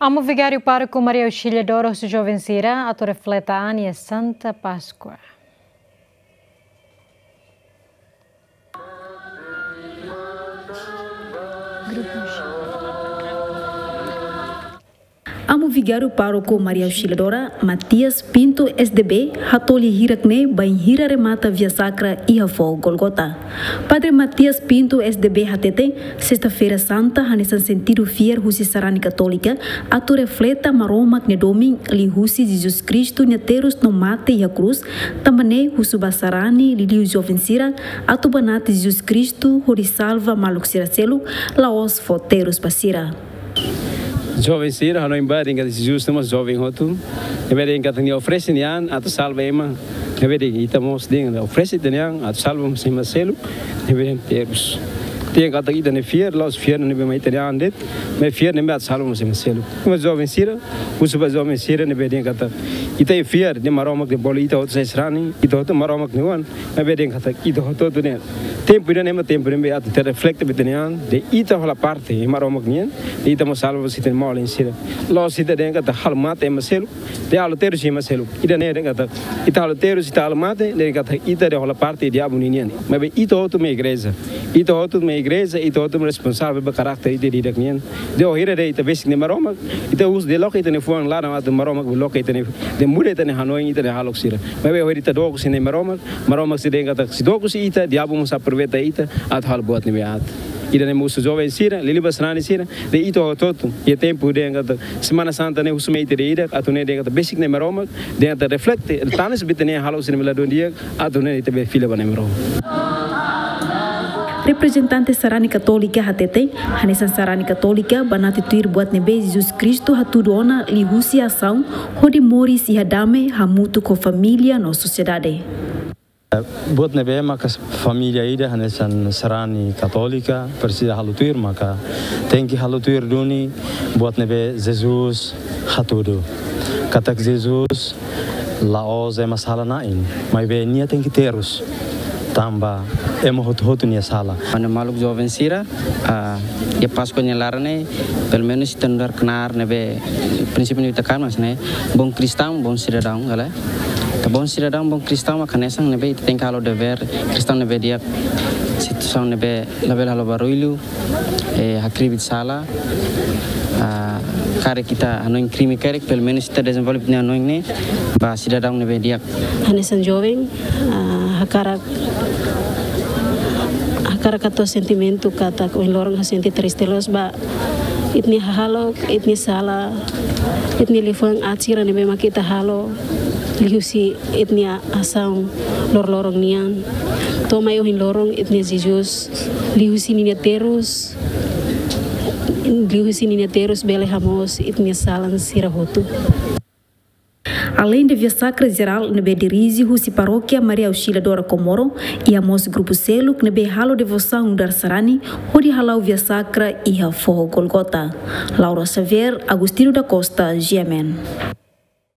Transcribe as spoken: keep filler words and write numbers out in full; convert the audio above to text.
Amu Vigáriu Pároku Maria Auxiliadora husu joven sira atu reflete an iha Santa Páskua. Amu Vigáriu Pároku Maria Auxiliadora Matias Pinto S D B hato'o lia hirak ne'e bainhira remata Via Sacra iha foho Gólgota. Padre Matias Pinto S D B hateten, Sesta-feira Santa hanesan sentidu fiar husi sarani Katólika atu reflete Maromak nia domin liuhusi Jesus Kristu nia terus no mate iha krús, tanba ne'e husu ba sarani liuliu joven sira atu banati Jesus Kristu hodi salva maluk sira seluk, la'ós fó terus ba sira. Joven sira, hanoin ba dehan katak Jesus ne'e mós joven hotu. Ne'ebé dehan katak nia oferese nia an atu salva ema. Ne'ebé dehan ita mós dehan oferese ita-nia an atu salva mós ema seluk. Ne'ebé dehan terus. Dehan katak ita-nia fiar, la'ós fiar ne'ebé mai ita-nia an de'it, maibé fiar ne'ebé atu salva mós ema seluk. Mas joven sira, husu ba joven sira ne'ebé dehan katak ita fiar dehan Maromak nia bolu ita hotu sai sarani, ita hotu Maromak nia oan. Maibé dehan katak ita hotu-hotu ne'e tempu ida-ne'e mak tempu ne'ebé atu ita reflete ba ita-nia an dehan ita hola parte iha Maromak nian, dehan ita mós salva ba ita-nia maluk sira. La'ós ita dehan katak halo mate ema seluk, dehan halo terus ema seluk. Ida-ne'e dehan katak ita halo terus, ita halo mate, dehan katak ita dehan hola parte diabu ninian. Maibé ita hotu mak igreja. Ita hotu mak igreja, ita hotu mak responsavel ba karakter ita ida-idak nian. Dehan wainhira dehan ita besik ne'e Maromak, ita husu dehan loke ita-nia fuan laran atu Maromak bele loke ita-nia, dehan muda ita-nia hanoin, ita-nia hahalok sira. Maibé wainhira ita dook husi ne'e Maromak, Maromak sei dehan katak sei dook husi ita, diabu mós aproveita ita atu halo buat ne'ebé aat. Ida-ne'e mak husu joven sira, liuliu ba sarani sira, dehan ita hotu-hotu iha tempu dehan katak Semana Santa ne'e husu mai ita ida-idak atu nune'e dehan katak besik ne'e Maromak, dehan ita reflete, tanis ba ita-nia hahalok sira ne'ebé ladún di'ak, atu nune'e ita bele fila ba ne'e Maromak. Reprezentante sarani Katólika hateten, hanesan sarani Katólika banati tuir buat ne'ebé Jesus Kristu hatudu ona liuhusi asaun hodi moris iha dame hamutuk ho família no sosiedade. Buat ne'ebé maka família ida hanesan sarani Katólika presiza halo tuir maka tenke halo tuir duni buat ne'ebé Jesus hatudu. Katak Jesus la'ós ema sala-na'in, maibé nia tenke terus tanba ema hotu-hotu nia sala. Ba maluk joven sira, ah, iha Páskua nia laran ne'e, pelumenus ita nu'udar knaar ne'ebé, prinsípiu ne'ebé ita kaer mós ne'e, bom kristaun, bom sidadaun, ka lae? Ita bom sidadaun, bom kristaun, maka hanesan ne'ebé ita tenke halo devér kristaun ne'ebé di'ak, situasaun ne'ebé labele halo barullu, eh, hakribi sala, ah, karik ita hanoin krime karik, pelumenus ita dezenvolve ita-nia hanoin ne'e ba sidadaun ne'ebé di'ak. Hanesan joven, ah, hakarak, hakarak hato'o sentimentu katak ohin loron ha'u sente triste loos ba ita-nia hahalok, ita-nia sala, ita-nia liafuan aat sira ne'ebé mak ita halo liuhusi ita-nia asaun loroloron nian. To'o mai ohin loron ita-nia Jesus liuhusi ninia terus, liuhusi ninia terus bele hamoos ita-nia salan sira hotu. Aleinde Via Sacra Jerál ne'ebé dirije husi Parókia Maria Auxiliadora Comoro, iha mós grupu seluk ne'ebé halo devosaun nu'udar sarani hodi hala'o Via Sacra iha foho Gólgota. Laura Xavier, Agostinho da Costa, G M N.